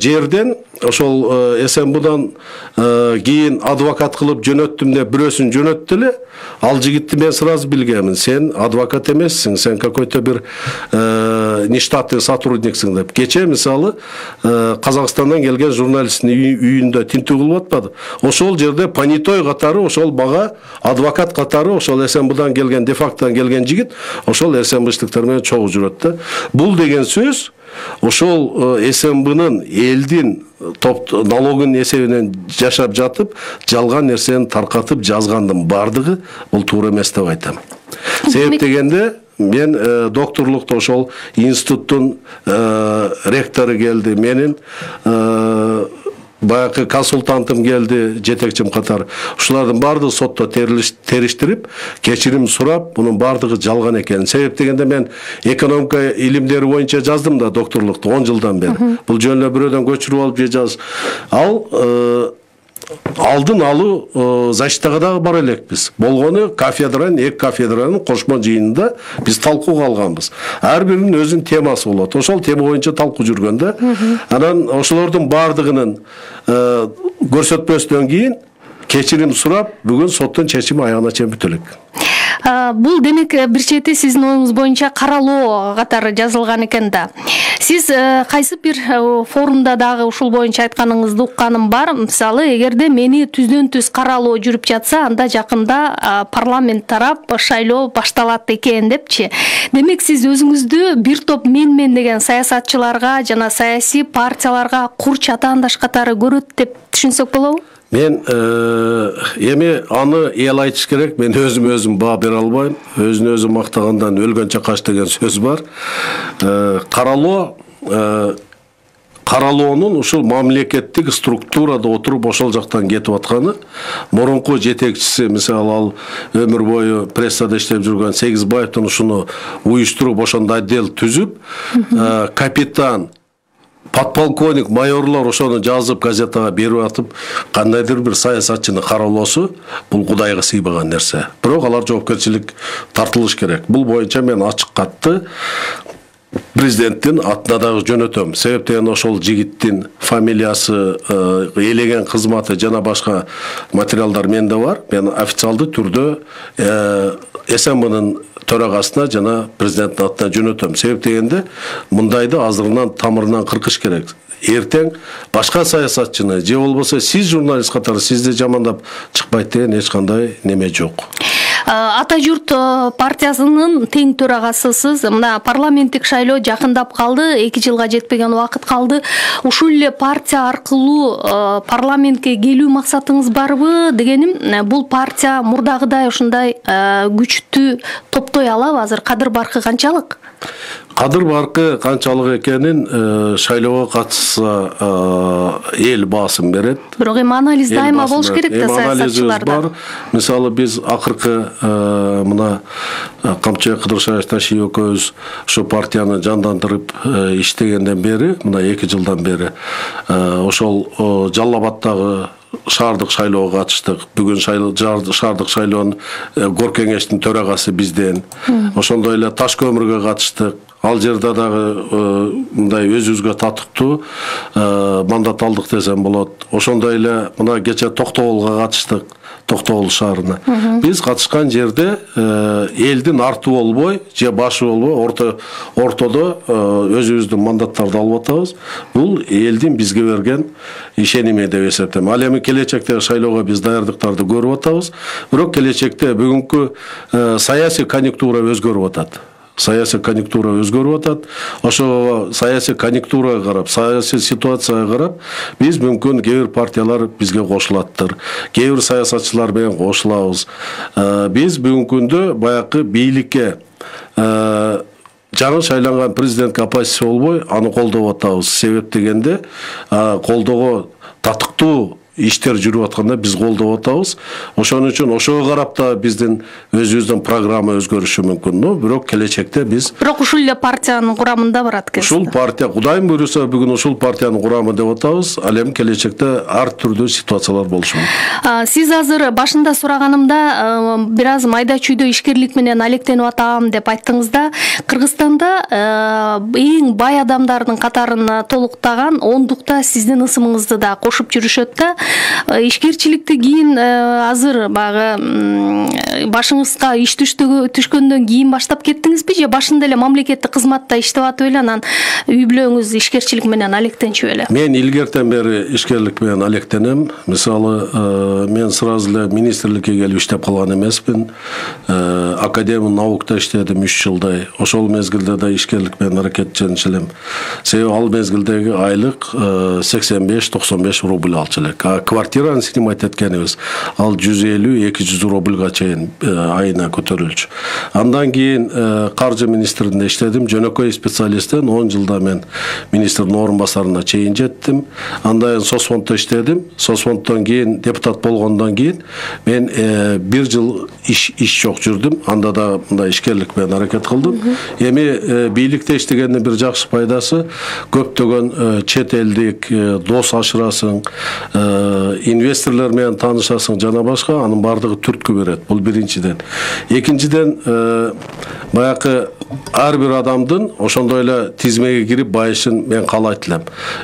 жерден ошол СМБдан кийин адвокат кылып жөнөттүм деп бирөөсүн жөнөттү эле. Ал жигитти мен сразу билгемин. Сен адвокат эмессиң, сен какой-то бир нештатный сотрудниксиң деп. Кече мисалы Казакстандан келген журналисттин үйүндө тинтүү кылып атпады. Ошол жерде понятой катары, ошол бага адвокат катары, ошол СМБдан келген, де-фактодан келген жигит ошол СМБштиктер менен чогуу жүрөт да. Бул деген сөз ошол СМБнын элдин топ налогун эсебинен жашап жатып, жалган нерсени таркатып жазгандын бардыгы бул туура эмес деп айтам. Себеп дегенде мен докторлукта ошол институттун ректору келди, менин баягы консультантым келди, жетекчим катары. Ушулардын бардыгы сотто териштирип, кечирим сурап, мунун бардыгы жалган экенин. Себеп дегенде мен экономика илимдери боюнча жаздым да докторлукту он жылдан бери. Бул жөн эле бирөөдөн көчүрүп алып же жаз. Ал алдын алуу защитага дагы бара элекпиз. Болгону кафедранын, эки кафедранын кошмо жыйынында биз талкууга алганбыз. Ар биринин өзүнүн темасы болот. Ошол тема боюнча талкуу жүргөндө, анан ошолордун бардыгынын көрсөтмөсүнөн кийин кечирим сурап, бүгүн соттун чечими аягына чейин бүтө элек. Бул демек бир чети сиздин оюңуз боюнча каралоо катары жазылган экен да. Сиз кайсы бир форумда дагы ушул боюнча айтканыңызды укканым бар. Мисалы, эгерде мени түздөн түз каралоо жүрүп жатса, анда жакында парламент тарап шайлоо башталат экен депчи. Демек сиз өзүңүздү бир топ мен-мен деген саясатчыларга жана саясий партияларга кур чатаандаш катары көрөт деп түшүнсөк болобу? Мен эми аны эл айтыш керек, мен өзүм өзүм баа бере албайм. Өзүн өзү мактагандан өлгөнчө кач деген сөз бар. Каралоо каралоонун ушул мамлекеттик структурада отуруп ошол жактан кетип атканы, мурунку жетекчиси, мисалы, ал өмүр бою прессада иштеп жүргөн Сегизбаевдин ушуну уюштуруп, ошондой отдел түзүп, капитан подполковник, майорлор ошону жазып газетага берип атып, кандайдыр бир саясатчыны кароолосу, бул Кудайга сыйбаган нерсе. Бирок алар жоопкерчилик тартылыш керек. Бул боюнча мен ачык катты президенттин атына дагы жөнөтөм. Себеп дегенде ошол жигиттин фамилиясы, элеген кызматы жана башка материалдар менде бар. Мен официалдуу түрдө эс эм бнын төрагасына жана президенттин атына жөнөтөм. Себеп дегенде мындайды азырынан тамырынан кыркыш керек. Эртең башка саясатчыны же болбосо сиз журналист катары сизди жамандап чыкпайт деген эч кандай неме жок. Ата журт партиясынын тең төрагасысыз. Мына парламенттик шайлоо жакындап калды, эки жылга жетпеген убакыт калды. Ушул эле партия аркылуу парламентке келүү максатыңыз барбы дегеним, бул партия мурдагыдай ушундай күчтүү топтой алабы азыр? Кадыр баркы канчалык? Кадыр баркы канчалык экенин шайлоого катышса эл баасым берет. Бирок эми анализ дайыма болуш керек да саясатчыларда. Мисалы биз акыркы мына Камчыбек Кыдыршаевич экөөбүз ошо партияны жандандырып иштегенден бери, мына эки жылдан бери ошол Жалал Абаддагы шаардык шайлоого катыштык. Бүгүн шаардык шайлоонун кор кеңештин төрагасы бизден. Ошондой эле Таш көмүргө катыштык. Ал жерде дагы мындай өзүбүзгө татыктуу мандат алдык десем болот. Ошондой эле мына кече Токтогулга катыштык. Токтогул шаарына. Биз катышкан жерде элдин арты болбой, же башы болбой, орто ортодо өзүбүздүн мандаттарды алып атабыз. Бул элдин бизге берген ишеними деп эсептейм. Ал эми келечектеги шайлоого биз даярдыктарды көрүп атабыз. Бирок келечекте бүгүнкү саясий конъюнктура өзгөрүп атат. Саясий конъюнктура өзгөрүп атат. Ошо саясий конъюнктурага карап, саясий ситуацияга карап, биз мүмкүн кээ бир партиялар бизге кошулаттыр. Кээ бир саясатчылар менен кошулабыз. Биз бүгүнкү күндө баягы бийликке жаңы шайланган президентке оппозиция болбой, аны колдоп атабыз. Себеп дегенде колдоого татыктуу иштер жүрүп атканда биз колдоп атабыз. Ошон үчүн ошого карап да биздин өзүбүздүн программа өзгөрүшү мүмкүн. Но бирок келечекте биз Бирок ушул эле партиянын курамында барат экенсиз. Ушул партия Кудайым буйруса бүгүн ушул партиянын курамы деп атабыз. Ал эми келечекте ар түрдүү ситуациялар болушу мүмкүн. Сиз азыр башында сураганымда бир аз майда чүйдө ишкерлик менен алектенип атам деп айттыңыз да. Кыргызстанда эң бай адамдардын катарын толуктаган ондукта сиздин ысымыңызды да кошуп жүрүшөт да. Ишкерчиликти кийин азыр багы башыңызга иш түшкөндөн кийин баштап кеттиңизби же башында эле мамлекеттик кызматта иштеп атып эле анан үй бүлөңүз ишкерчилик менен алектенчү эле? Мен илгертен бери ишкерлик менен алектенем. Мисалы, мен сразу эле министрликке келип иштеп калган эмеспин. Академия наукта иштедим үч жылдай. Ошол мезгилде да ишкерлик менен аракеттенчү элем. Себеби ал мезгилдеги айлык сексен беш токсон беш рубль алчу элек. Квартираны снимать эткенибиз ал жүз элүү эки жүз рубльга чейин айына көтөрүлчү. Андан кийин каржы министрлигинде иштедим. Жөнөкөй специалисттен он жылда мен министрдин орун басарына чейин жеттим. Андан Сосфонддо иштедим. Сосфонддон кийин депутат болгондон кийин мен бир жыл иш иш жок жүрдүм. Анда да мындай ишкерлик менен аракет кылдым. Эми бийликте иштегендин бир жакшы пайдасы көптөгөн чет элдик дос ашырасың, инвесторлор менен таанышасың жана башка, анын бардыгы түрткү берет. Бул биринчиден. Экинчиден баягы ар бир адамдын ошондой эле тизмеге кирип байышын мен каалайт элем.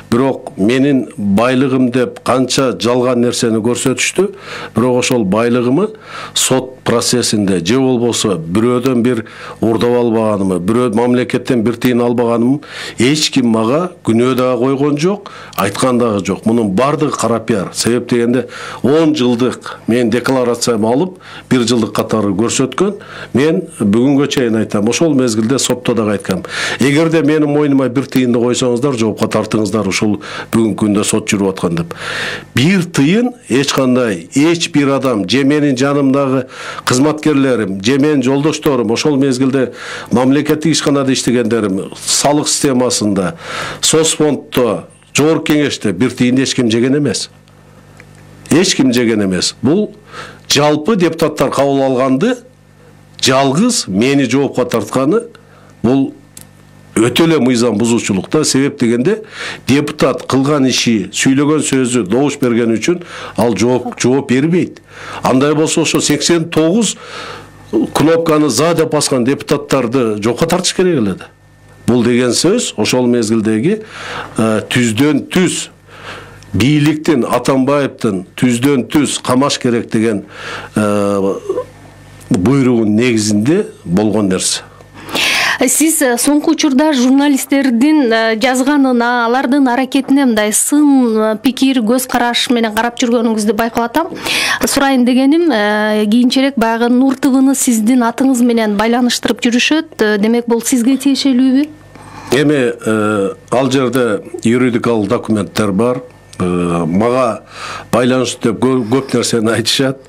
Бирок менин байлыгым деп канча жалган нерсени көрсөтүштү. Бирок ошол байлыгымы сот процессинде же болбосо бирөөдөн бир урдап албаганымы, бирөө мамлекеттен бир тыйын албаганымы эч ким мага күнөө дагы койгон жок, айткан дагы жок. Мунун бардыгы кара пиар. Себеп дегенде он жылдык мен декларациямды алып, бир жылдык катары көрсөткөн. Мен бүгүнгө чейин айтам, ошол мезгилде сотто дагы айткам. Эгерде менин мойнума бир тыйынды койсоңуздар, жоопко тартыңыздар, ушул бүгүнкү күндө сот жүрүп аткан деп. Бир тыйын эч кандай, эч бир адам, же менин жанымдагы кызматкерлерим, же менин жолдошторум, ошол мезгилде мамлекеттик ишканада иштегендерим, салык системасында, Сосфонддо, жогорку кеңеште бир тыйын эч ким жеген эмес. Эч ким жеген эмес. Бул жалпы депутаттар кабыл алганды жалгыз мени жоопко тартканы бул өтө эле мыйзам бузуучулук да. Себеп дегенде депутат кылган иши, сүйлөгөн сөзү добуш берген үчүн ал жооп жооп бербейт. Андай болсо ошо сексен тогуз кнопканы за деп баскан депутаттарды жокко тартыш керек эле да. Бул деген сөз ошол мезгилдеги түздөн түз бийликтин, Атамбаевдин түздөн түз камаш керек деген буйругунун негизинде болгон нерсе. Сиз соңку учурда журналисттердин жазганына, алардын аракетине мындай сын пикир, көз караш менен карап жүргөнүңүздү байкап атам. Сурайын дегеним, кийинчерээк баягы Нур ТВны сиздин атыңыз менен байланыштырып жүрүшөт. Демек, бул сизге тиешелүүбү? Эми ал жерде юридикалык документтер бар. Мага байланыштуу деп көп нерсени айтышат.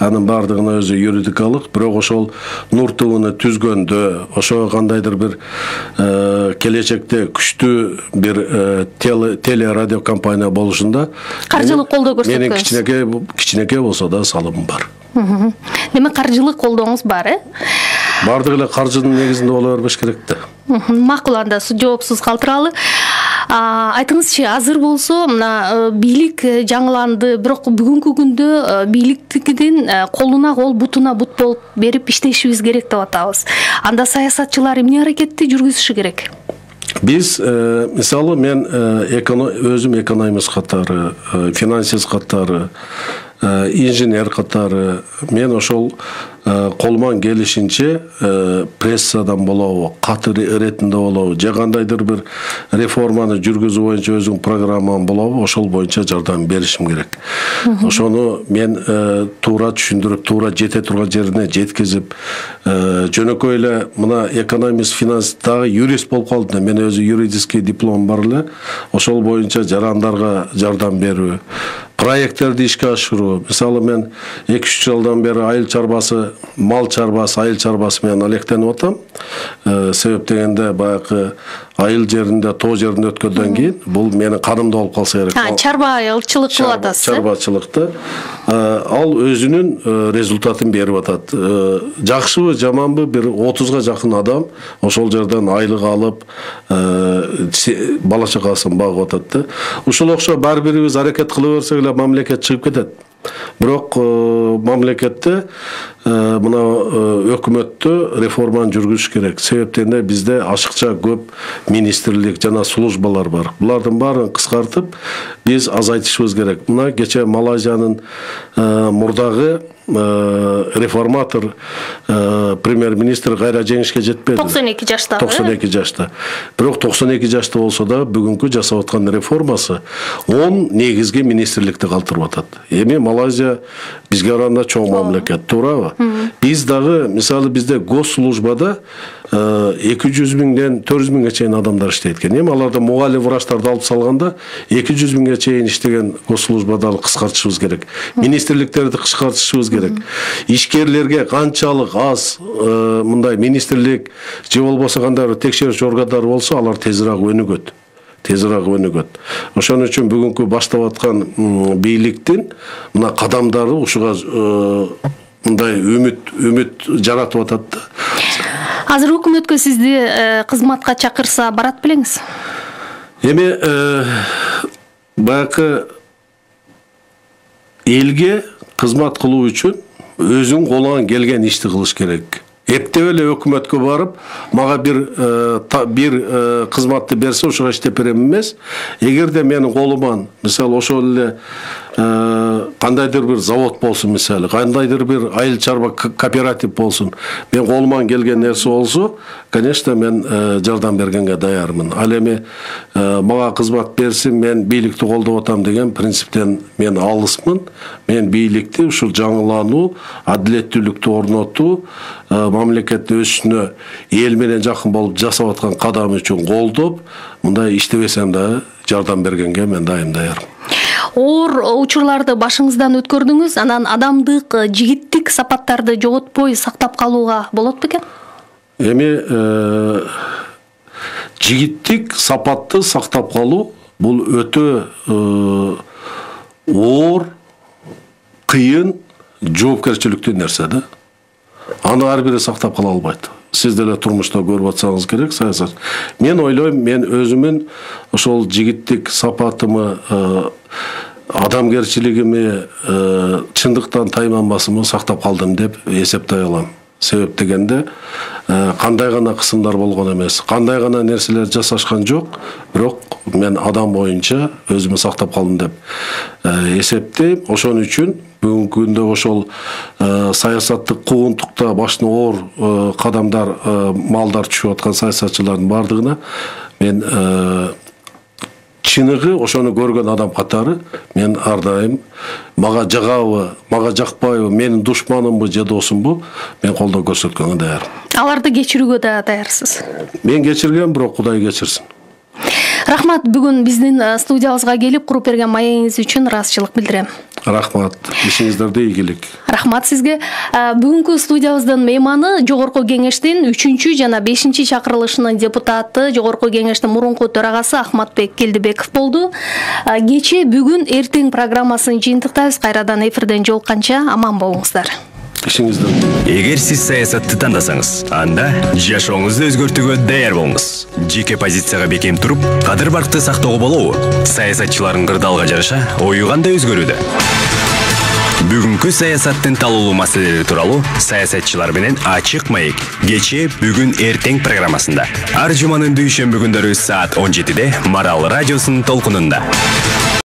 Анын бардыгына өзү юридикалык, бирок ошол Нур ТВны түзгөндө, ошо кандайдыр бир келечекте күчтүү бир теле радио компания болушунда каржылык колдоо көрсөткөнсүз. Менин кичинекей кичинекей болсо да салымым бар. Демек, каржылык колдооңуз бар, э? Бардык эле каржынын негизинде боло бербеш керек да. Макул, анда жоопсуз калтыралы. Айтыңызчы, азыр болсо мына бийлик жаңыланды, бирок бүгүнкү күндө бийликтикидин колуна кол, бутуна бут болуп берип иштешибиз керек деп атабыз. Анда саясатчылар эмне аракетти жүргүзүшү керек? Биз, мисалы, мен өзүм экономист катары, финансист катары, инженер катары, мен ошол колуман келишинче прессадан болобу, кат иретинде болобу, же кандайдыр бир реформаны жүргүзүү боюнча өзүң программам болобу, ошол боюнча жардам беришим керек. Ошону мен туура түшүндүрүп, туура жете турган жерине жеткизип, жөнөкөй эле мына экономист, финансист, дагы юрист болуп калдым. Мен өзү юридический диплом бар эле. Ошол боюнча жарандарга жардам берүү, проекттерди ишке ашыруу. Мисалы, мен эки үч жылдан бери айыл чарбасы, мал чарбасы, айыл чарбасы менен алектенип атам. Себеп дегенде баягы айыл жеринде, тоо жеринде өткөндөн кийин бул менин канымда болуп калса керек. Ha, чарбачылык кылып атасыз. Чарбачылыкта ал өзүнүн результатын берип атат. Жакшыбы, жаманбы, бир отузга жакын адам ошол жерден айлык алып, бала чакасын багып атат да. Ушул окшо бар бирибиз аракет кыла берсек эле мамлекет чыгып кетет. Бирок мамлекетте мына өкмөттө реформаны жүргүзүш керек. Себептен бизде ашыкча көп министрлик жана службалар бар. Булардын баарын кыскартып, биз азайтышыбыз керек. Мына кече Малайзиянын мурдагы реформатор премьер-министр кайра жеңишке жетпеди. токсон эки жашта. токсон эки жашта. Бирок токсон эки жашта болсо да бүгүнкү жасап аткан реформасы он негизги министрликти калтырып атат. Эми Малайзия бизге караганда чоң мамлекет, туурабы? Биз дагы, мисалы, бизде госслужбада эки жүз миңден төрт жүз миңге чейин адамдар иштейт экен. Эми аларды мугалим врачтарды алып салганда эки жүз миңге чейин иштеген госслужбада кыскартышыбыз керек. Министрликтерди кыскартышыбыз керек. Ишкерлерге канчалык аз мындай министрлик же болбосо кандай текшерүүчү органдар болсо, алар тезирээк өнүгөт. Тезирээк өнүгөт. Ошон үчүн бүгүнкү баштап аткан бийликтин мына кадамдары ушуга мындай үмүт үмүт жаратып атат да. Азыр өкмөткө сизди кызматка чакырса барат белеңиз? Эми баягы элге кызмат кылуу үчүн өзүң колуңан келген ишти кылыш керек. Эптеп эле өкмөткө барып, мага бир бир кызматты берсе, ошого иштеп берем эмес. Эгерде менин колуман, мисалы, ошол эле кандайдыр бир завод болсун, мисалы, кандайдыр бир айыл чарба кооператив болсун, мен колуман келген нерсе болсо, конечно, мен жардам бергенге даярмын. Ал эми мага кызмат берсин, мен бийликти колдоп атам деген принциптен мен алысмын. Мен бийликти ушул жаңылануу, адилеттүүлүктү орнотуу, мамлекетти өсүшүнө эл менен жакын болуп жасап аткан кадам үчүн колдоп, мындай иштебесем да жардам бергенге мен дайым даярмын. Оор учурларды башыңыздан өткөрдүңүз, анан адамдык, жигиттик сапаттарды жоготпой сактап калууга болот бекен? Эми жигиттик сапатты сактап калуу бул өтө оор, кыйын, жоопкерчиликтүү нерсе да. Аны ар бири сактап кала албайт. сиз деле турмушта көрүп атсаңыз керек саясат. Мен ойлойм, мен өзүмүн ошол жигиттик сапатымы, адамгерчилигими, чындыктан тайманбасымы сактап калдым деп эсептей алам. Себеп дегенде кандай гана кысымдар болгон эмес, кандай гана нерселер жасашкан жок, бирок мен адам боюнча өзүмү сактап калдым деп эсептейм. Ошон үчүн бүгүнкү күндө ошол саясаттык куугунтукта башына оор кадамдар, малдар түшүп аткан саясатчылардын бардыгына мен чыныгы ошону көргөн адам катары мен ар дайым мага жагабы, мага жакпайбы, менин душманымбы же досумбу, мен колдоо көрсөткөнгө даярмын. Аларды кечирүүгө да даярсыз. Мен кечиргем, бирок Кудай кечирсин. Рахмат, бүгүн биздин студиябызга келип куруп берген маегиңиз үчүн ыраазычылык билдирем. Рахмат. Ишиңиздерде ийгилик. Рахмат сизге. Бүгүнкү студиябыздын мейманы Жогорку кеңештин үчүнчү жана бешинчи чакырылышынын депутаты, Жогорку кеңештин мурунку төрагасы Ахматбек Келдибеков болду. Кече, бүгүн, эртең программасын жыйынтыктайбыз. Кайрадан эфирден жолукканча аман болуңуздар. Эгер сиз саясатты тандасаңыз, анда жашооңузду өзгөртүүгө даяр болуңуз. Жеке позицияга бекем туруп, кадыр баркты сактоого болобу? Саясатчылардын кырдаалга жараша ою кандай өзгөрүүдө? Бүгүнкү саясаттын талуулуу маселелери тууралуу саясатчылар менен ачык маек кече, бүгүн, эртең программасында. Ар жуманын дүйшөмбү күндөрү саат он жетиде Марал радиосунун толкунунда.